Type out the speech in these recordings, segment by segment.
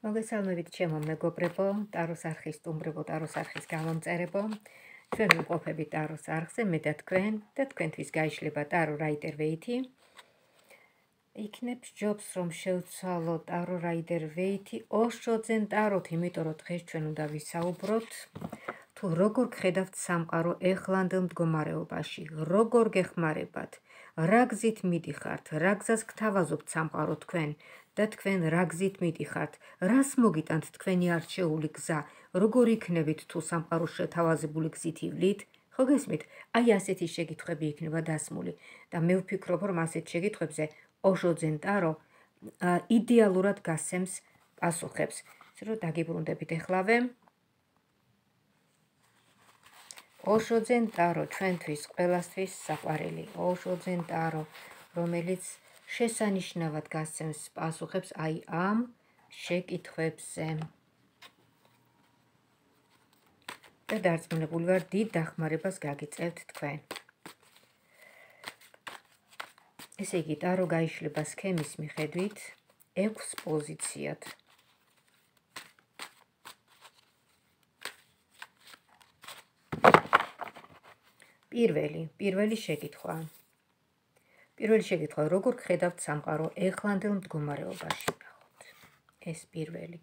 მოგესალმებით ჩემო მეგობრებო, ტაროს არხის სტუმრებო, ტაროს არხის გამომწერებო. ჩვენ ვიმყოფებით ტაროს არხზე, მე და თქვენთვის გაიშლება ტარო რაიდერ ვეითი. იქნებს ჯობს რომ შევცვალო ტარო რაიდერ ვეითი ოშოძენ ტაროთ, იმიტომ რომ დღეს ჩვენ უნდა ვისაუბროთ თუ როგორ გხედავთ სამყარო ეხლანდელ მდგომარეობაში, როგორ გეხმარებათ, რა გზით მიდიხართ, რა გზას გთავაზობთ სამყარო თქვენ და თქვენ რა გზით მიდიხართ, რას მოგიტანთ თქვენი არჩეული გზა, როგორ იქნებით თუ სამყაროს შეთავაზებული გზით ივლით, ხო გესმით? აი ასეთი შეკითხვები იქნება დასმული და მე ვფიქრობ რომ ასეთ შეკითხვებზე ოშოძენ ტარო იდეალურად გასცემს პასუხებს. ისე რომ დაგიბრუნდებით ეხლავე. ოშოძენ ტარო ჩვენთვის ყველასთვის საყვარელი, ოშოძენ ტარო, რომელიც შესანიშნავად გასცემს პასუხებს აი ამ შეკითხვებზე. და დარწმუნებული ვარ, დიდ დახმარებას გაგიწევთ თქვენ. ესე იგი, ტარო გაიშლება სქემის მიხედვით 6 პოზიციად. პირველი შეკითხვა. როგორ გხედავთ სამყარო ეხლანდელ მდგომარეობაში? ეს პირველი.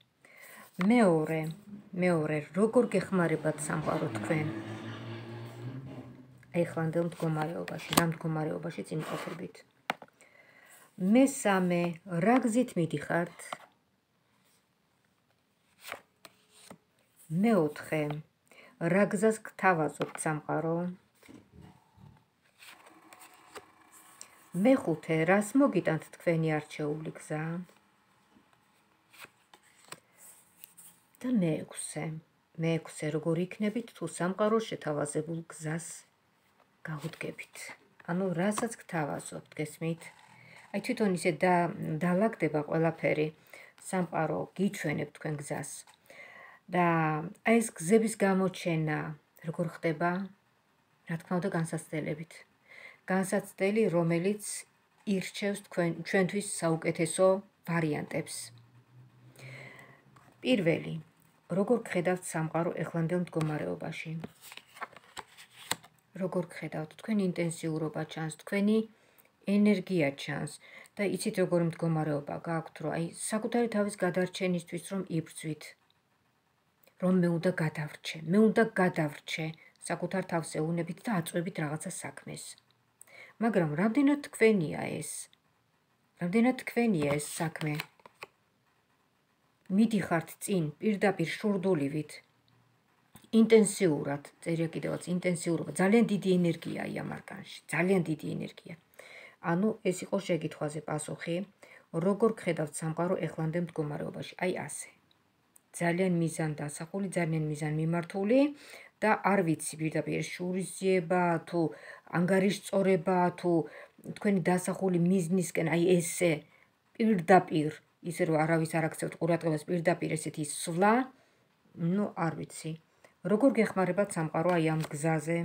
მეორე, როგორ გეხმარებათ სამყარო თქვენ ეხლანდელ მდგომარეობაში, რა მდგომარეობაშიც იმყოფებით? მესამე, რა გზით მიდიხართ? მეოთხე, რა გზას გთავაზობთ სამყარო? მეხუთე, რას მოგიტანთ თქვენი არჩეული გზა? და მეექვსე, როგორ იქნებით თუ სამყაროს შეთავაზებულ გზას გაუდგებით? ანუ რასაც გთავაზობთ, გესმით? აი თვითონ ისე დალაგდება ყველაფერი, სამყარო გიჩვენებ თქვენ გზას. და აი ეს გზების გამოჩენა როგორ ხდება? რა თქმა უნდა განსაცდელებით. განსაცდელი, რომელიც ირჩევს ჩვენთვის საუკეთესო ვარიანტებს. პირველი, როგორ გხედავთ სამყარო ეხლანდელ მდგომარეობაში? როგორ გხედავთ? თქვენი ინტენსიურობა ჩანს, თქვენი ენერგია ჩანს და იცით როგორი მდგომარეობა გაქვთ, რომ აი საკუთარი თავის გადარჩენისთვის რომ იბრძვით, რომ მე უნდა გადავრჩე საკუთარ თავს ეუნებით და აწვევით რაღაცა საქმეს. მაგრამ რამდენად თქვენია ეს საქმე? მიდიხართ წინ პირდაპირ შურდულივით, ინტენსიურად, წერია კიდევაც ინტენსიურობა, ძალიან დიდი ენერგიაა ამ არკანში, ძალიან დიდი ენერგია. ანუ ეს იყო შეკითხვაზე პასუხი, როგორ გხედავთ სამყარო ეხლანდელ მდგომარეობაში? აი ასე. ძალიან მიზან დასახული, ძალიან მიზან მიმართული და არ ვიცი პირდაპირ შურისძიება თუ ანგარიშწორება თუ თქვენი დასახული მიზნისკენ აი ესე პირდაპირ ისე რომ არავის არ აქცევთ ყურადღებას პირდაპირ ესეთი სვლა, არ ვიცი. როგორ გეხმარებათ სამყარო აი ამ გზაზე?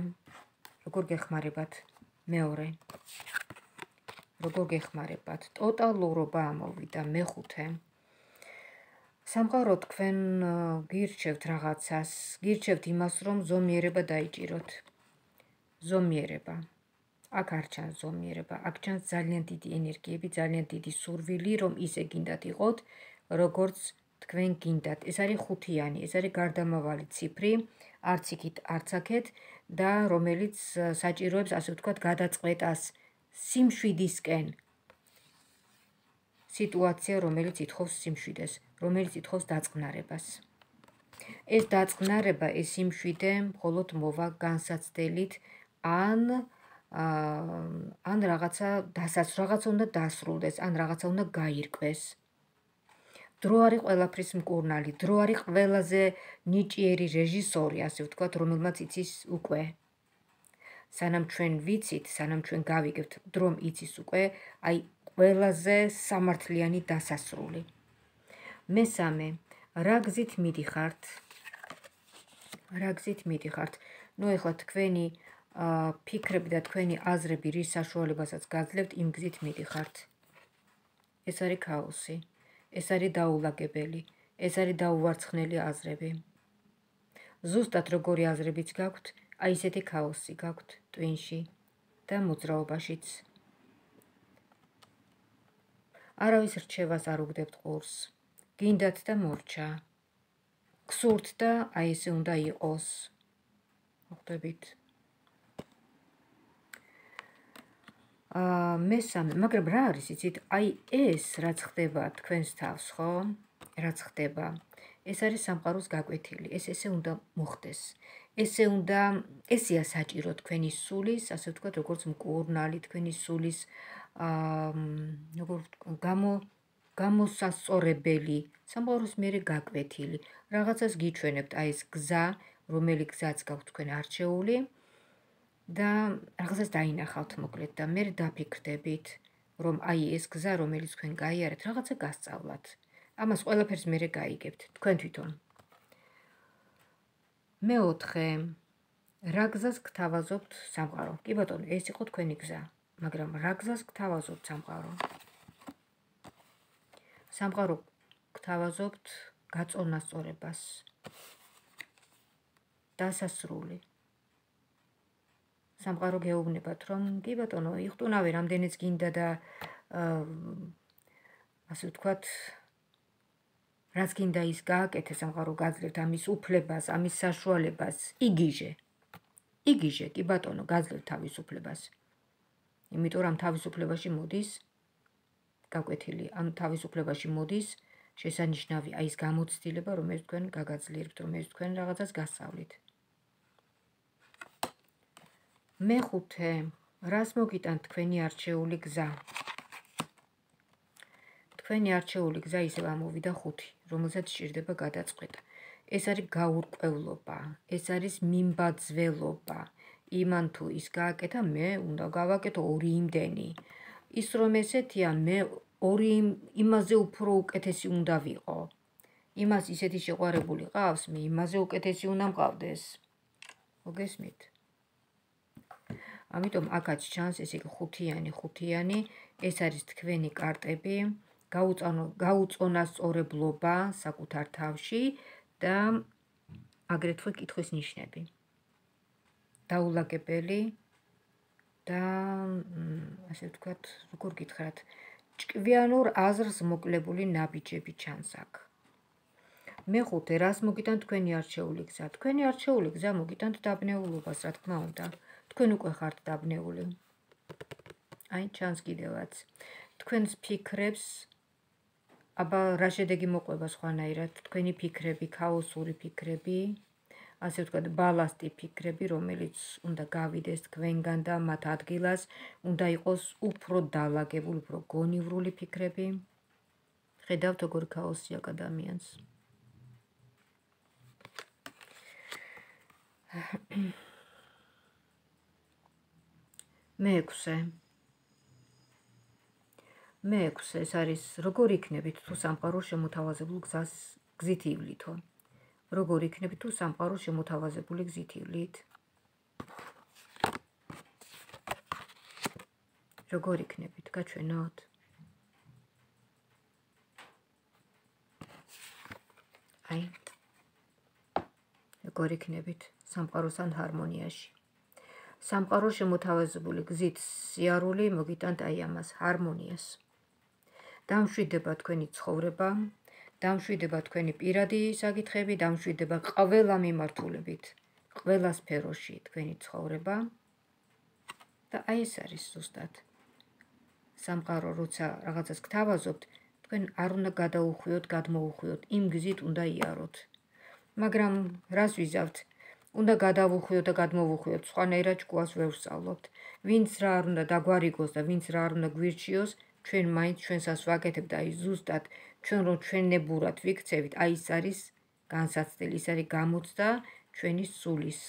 როგორ გეხმარებათ? მეორე. როგორ გეხმარებათ? ტოტალურობა ამოვიდა მეხუთე. სამყარო თქვენ გირჩევთ რაღაცას, გირჩევთ იმას, რომ ზომიერება დაიჭიროთ. ზომიერება. აქ არ ჩანს ზომიერება, აქ ჩანს ძალიან დიდი ენერგიები, ძალიან დიდი სურვილი, რომ ისე გინდათ იყოთ, როგორც თქვენ გინდათ. ეს არის ხუთიანი, ეს არის გარდამავალი ციფრი, არც იქით, არც აქეთ და რომელიც საჭიროებს, ასე ვთქვათ, გადაწყვეტას სიმშვიდისკენ. სიტუაცია, რომელიც ითხოვს სიმშვიდეს, რომელიც ითხოვს დაწყნარებას. ეს დაწყნარება, ეს სიმშვიდე მხოლოდ მოვა განსაცდელით ან რაღაცა უნდა დასრულდეს, ან რაღაცა უნდა გაირკვეს. დრო არის ყველაფრის მკურნალი, დრო არის ყველაზე ნიჭიერი რეჟისორი, ასე ვთქვათ, რომელმაც იცის უკვე. სანამ ჩვენ ვიცით, სანამ ჩვენ გავიგებთ, დრომ იცის უკვე, აი ყველაზე სამართლიანი დასასრული. მესამე, რა გზით მიდიხართ? ეხლა თქვენი ფიქრები და თქვენი აზრები რის საშუალებასაც გაძლევთ, იმ გზით მიდიხართ. ეს არის ქაოსი, ეს არის დაულაგებელი, ეს არის დაუვარცხნელი აზრები. ზუსტად როგორი აზრებიც გაქვთ, აი ესეთი ქაოსი გაქვთ ტვინში და მოძრაობაშიც. არავის რჩევას არ უგდებთ ყურს. გინდათ და მორჩა. გსურთ და აი ესე უნდა იყოს. ხვდებით? მესამე, მაგრამ რა არის იცით? აი ეს რაც ხდება თქვენს თავს, ხო? რაც ხდება. ეს არის სამყაროს გაკვეთილი. ეს ესე უნდა მოხდეს. ესეა საჭირო თქვენი სულის, ასე ვთქვათ, როგორც მკურნალი, თქვენი სულის გამოსასწორებელი, სამყაროს მერე გაკვეთილი. რაღაცას გიჩვენებთ, აი ეს გზა, რომელი გზაც გაქვთ თქვენ არჩეული და რაღაცას დაინახავთ მოკლედ და მე დაფიქრდებით, რომ აი ეს გზა, რომელიც თქვენ გაიარეთ, რაღაცა გასწავლათ. ამას ყველაფერს მერე გაიგებთ, თქვენ თვითონ. მეოთხე, რა გზას გთავაზობთ სამყარო? კი ბატონო, ეს იყო თქვენი გზა, მაგრამ რა გზას გთავაზობთ სამყარო? სამყარო გთავაზობთ გაწონასწორებას, დასასრული. სამყარო გეუბნებათ, რომ კი ბატონო, იხტუნავე რამდენიც გინდა და ასე ვთქვათ, რაც გინდა ის გააკეთე, სამყარო გაძლევთ ამის უფლებას, ამის საშუალებას, იგიჟე. იგიჟე, კი ბატონო, გაძლევთ თავისუფლებას. იმიტომ რომ თავისუფლებაში მოდის გაკვეთილი, ანუ თავისუფლებაში მოდის შესანიშნავი აი ეს გამოცდილება, რომელიც თქვენ გაგაძლიერებთ, რომელიც თქვენ რაღაცას გასწავლით. მეხუთე, რას მოგიტანთ თქვენი არჩეული გზა? თქვენი არჩეული გზა ისევ ამოვიდა 5, რომელსაც სჭირდება გადაწყვეტა. ეს არის გაურკვევლობა, ეს არის მიმბაძველობა. იმან თუ ის გააკეთა, მე უნდა გავაკეთო 2 იმდენი. ის რომ ესეთია, მე 2 იმაზე უფრო უკეთესი უნდა ვიყო. იმას ისეთი შეყვარებული ყავს, მე იმაზე უკეთესი უნდა მყავდეს. მოგესმით? ამიტომ აქაც ჩანს ესე იგი 5-იანი, ეს არის თქვენი კარტები, გაუწონასწორებლობა საკუთარ თავში და აგრეთვე კითხვის ნიშნები. დაულაგებელი და ასე ვთქვათ, როგორ გითხრათ, ჭკვიანურ აზრს მოკლებული ნაბიჯები ჩანს აქ. მეხუთე, რას მოგიტანთ თქვენი არჩეული გზა? თქვენი არჩეული გზა მოგიტანთ დაბნეულობას, რა თქმა უნდა. თქვენ უკვე ხართ დაბნეული. აი, ჩანს კიდევაც. თქვენს ფიქრებს აბა რა შედეგი მოყვება სხვანაირად, თქვენი ფიქრები, ქაოსური ფიქრები, ასე ვთქვათ, ბალასტი ფიქრები, რომელიც უნდა გავიდეს თქვენგან და მათ ადგილას უნდა იყოს უფრო დალაგებული, უფრო გონივრული ფიქრები. ხედავთ როგორ ქაოსი აქვს ადამიანს. მეექვსე, ეს არის როგორ იქნებით თუ სამყარო შემოთავაზებულ გზით ივლითო? როგორ იქნებით თუ სამყარო შემოთავაზებული გზით ივლით? როგორ იქნებით? გაჩვენოთ? აი, როგორ იქნებით სამყაროსთან ჰარმონიაში? სამყარო შემოთავაზებული გზით სიარული მოგიტანთ აი ამას, ჰარმონიას. დამშვიდება თქვენი ცხოვრება, დამშვიდება თქვენი პირადი საკითხები, დამშვიდება ყველა მიმართულებით, ყველა სფეროში თქვენი ცხოვრება და აი ეს არის ზუსტად. სამყარო როცა რაღაცას გთავაზობთ, თქვენ არ უნდა გადაუხვიოთ, გადმოუხვიოთ, იმ გზით უნდა იაროთ. მაგრამ რას ვიზავთ? უნდა გადავუხვიოთ და გადმოვუხვიოთ, სხვანაირად ჭკუას ვერ ვსწავლობთ. ვინც რა არ უნდა დაგვარიგოს და ვინც რა არ უნდა გვირჩიოს, ჩვენ მაინც ჩვენსაც ვაკეთებთ, აი ზუსტად ჩვენ რომ ჩვენებურად ვიქცევით, აი ეს არის განსაცდელი, ის არის გამოცდა ჩვენი სულის.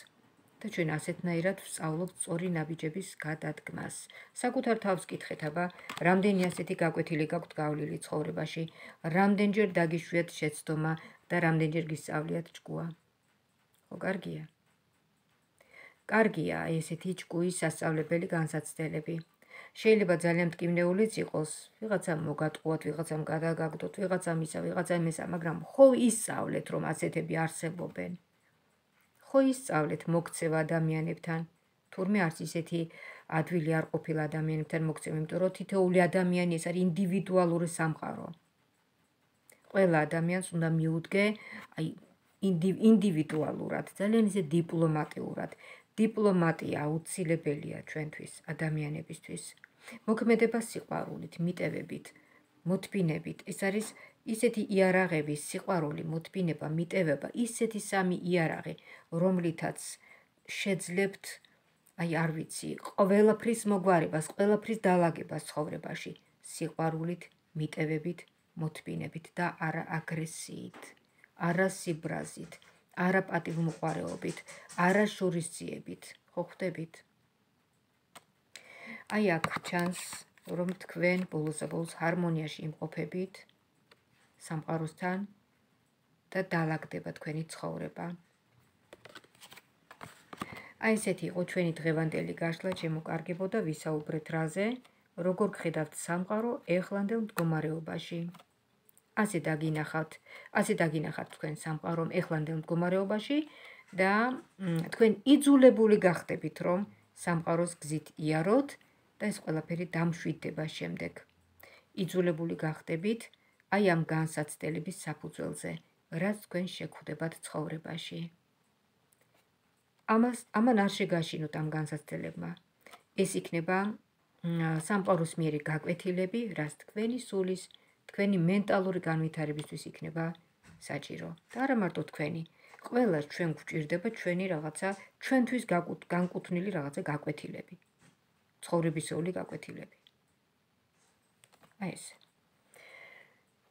და ჩვენ ასეთნაირად ვსწავლობთ სწორი ნაბიჯების გადადგმას. საკუთარ თავს კითხეთ, აბა, რამდენი ასეთი გაკვეთილი გაქვთ გავლილი ცხოვრებაში, რამდენჯერ დაგიშვიათ შეცდომა და რამდენჯერ გისწავლიათ ჭკუა. ხო, კარგია აი ესეთი ჭკუის სასწავლებელი განსაცდელები. შეიძლება ძალიან მტკივნეულიც იყოს, ვიღაცამ მოგატყუათ, ვიღაცამ გადაგაგდოთ, ვიღაცამ ისა, ვიღაცამ ესა, მაგრამ ხო ისწავლეთ, რომ ასეთები არსებობენ. ხო ისწავლეთ მოქცევა ადამიანებთან, თურმე არც ისეთი ადვილი არ ყოფილა ადამიანებთან მოქცევა, იმიტომ რომ თითოეული ადამიანი ეს არის ინდივიდუალური სამყარო. ყველა ადამიანს უნდა მიუდგე, აი ინდივიდუალურად, ძალიან ისე დიპლომატიურად. დიპლომატია აუცილებელია ჩვენთვის, ადამიანებისთვის. მოქმედება სიყვარულით, მიტევებით, მოთბინებით. ეს არის ისეთი იარაღები, სიყვარული, მოთბინება, მიტევება, ისეთი სამი იარაღი, რომლითაც შეძლებთ, აი არ ვიცი, ყველაფრის მოგვარებას, ყველაფრის დალაგებას ცხოვრებაში, სიყვარულით, მიტევებით, მოთბინებით და არა აგრესიით, არა სიბრაზით, არა პატივმოყვარეობით, არა შურისძიებით. ხო ხვდებით? აი აქ ჩანს, რომ თქვენ ბოლოს ჰარმონიაში იმყოფებით სამყაროსთან და დალაგდება თქვენი ცხოვრება. აი ესეთი იყო ჩვენი დღევანდელი გაშლა, ჩემო კარგებო და ვისაუბრეთ რაზე, როგორ გხედავთ სამყარო ეხლანდელ მდგომარეობაში. ასე დაგინახავთ თქვენ სამყარომ ეხლანდელ მდგომარეობაში და თქვენ იძულებული გახდებით, რომ სამყაროს გზით იაროთ და ეს ყველაფერი დამშვიდდება შემდეგ. იძულებული გახდებით აი ამ განსაცდელების საფუძველზე, რაც თქვენ შეგვხვდებათ ცხოვრებაში. ამან არ შეგაშინოთ ამ განსაცდელებმა. ეს იქნება სამყაროს მიერი გაკვეთილები, რაც თქვენი სულის, თქვენი მენტალური განვითარებისთვის იქნება საჭირო. და არა მარტო თქვენი, ყველას ჩვენ გვჭირდება ჩვენი რაღაცა, ჩვენთვის განკუთვნილი რაღაცა გაკვეთილები. ცხოვრებისეული გაკვეთილები. აი ეს.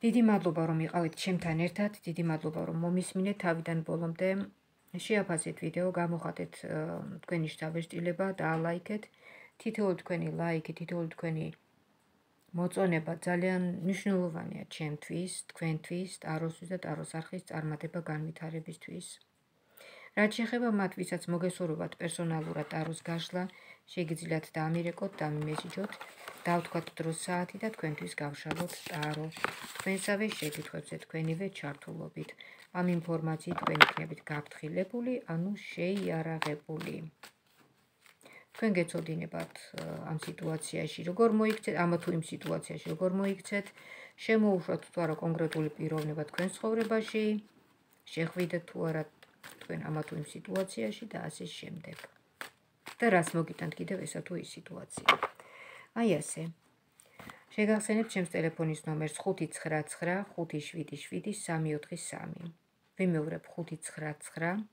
დიდი მადლობა რომ იყავით ჩემთან ერთად, დიდი მადლობა რომ მომისმინეთ თავიდან ბოლომდე. შეაფასეთ ვიდეო, გამოხატეთ თქვენი შთაბეჭდილება, დაალაიქეთ. თითოეული თქვენი ლაიქი, თითოეული თქვენი მოწონება ძალიან მნიშვნელოვანია ჩემთვის, თქვენთვის, ტაროსთვის და ტაროს არხის წარმატება განვითარებისთვის. რაც შეეხება მათ, ვისაც მოგესურვებათ პერსონალურად ტაროს გაშლა, შეგიძლიათ დამირეკოთ, დამიმესიჯოთ, დავთქვათ დროს საათი და თქვენთვის გავშალოთ ტარო. თქვენსავე შეკითხვებზე თქვენივე ჩართულობით. ამ ინფორმაციით თქვენ იქნებით გაფრთხილებული, ანუ შეიარაღებული. თქვენ გეცოდინებათ ამ სიტუაციაში, როგორ მოიქცეთ, ამა თუ იმ სიტუაციაში, როგორ მოიქცეთ, შემოუშვათ თუ არა კონკრეტული პიროვნება თქვენ ცხოვრებაში, შეხვიდეთ თუ არა თქვენ ამა თუ იმ სიტუაციაში და ასე შემდეგ. და რას მოგიტანთ კიდევ ესა თუ ის სიტუაცია. აი ასე. შეგახსენებთ ჩემს ტელეფონის ნომერს 599 577 343. ვიმეორებ 599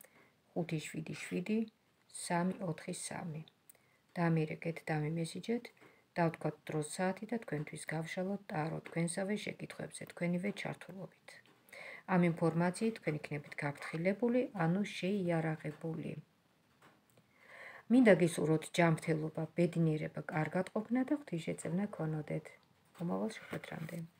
577 343. დამირეკეთ, დამიმესიჯეთ, დავთქვათ დროს საათი და თქვენთვის გავშალოთ ტარო თქვენსავე შეკითხვებზე თქვენივე ჩართულობით. ამ ინფორმაციით თქვენ იქნებით გაფრთხილებული, ანუ შეიარაღებული. მინდა გისურვოთ ჯანმრთელობა, ბედნიერება, კარგად ყოფნა და ღვთისმშეწევნა გქონოდეთ. მომავალ შეხვედრამდე.